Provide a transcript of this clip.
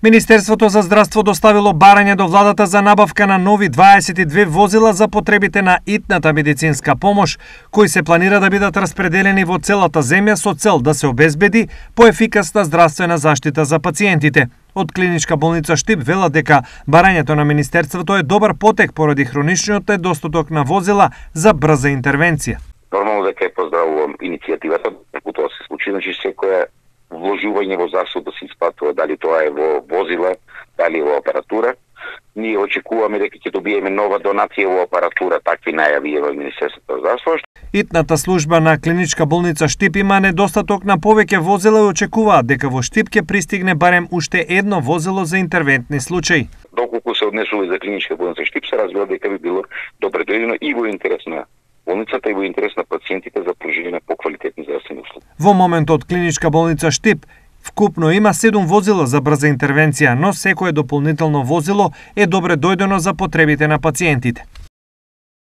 Министерството за здравство доставило барање до владата за набавка на нови 22 возила за потребите на итната медицинска помош, кои се планира да бидат распределени во целата земја со цел да се обезбеди поефикасна здравствена заштита за пациентите. Од клиничка болница Штип велат дека барањето на Министерството е добар потек поради хроничниот недостаток на возила за брза интервенција. Нормално дека поздравувам иницијативата, ако тоа се случи, значи секоја вложување во заштита се исплатува, дали тоа е во возила, дали во апаратура. Ние очекуваме дека ќе добиеме нова донација во апаратура, такви најави во Министерството за здравство. Итната служба на клиничка болница Штип има недостаток на повеќе возила и очекуваат дека во Штип ќе пристигне барем уште едно возило за интервентни случаи. Доколку се однесува за клиничка болница Штип, се разбира дека би било добре дојдено и во интерес на болницата и во интерес на пациентите за пруживање на поквалитетни здравствени услуги. Во моментот клиничка болница Штип вкупно има 7 возила за брза интервенција, но секое дополнително возило е добре дојдено за потребите на пациентите.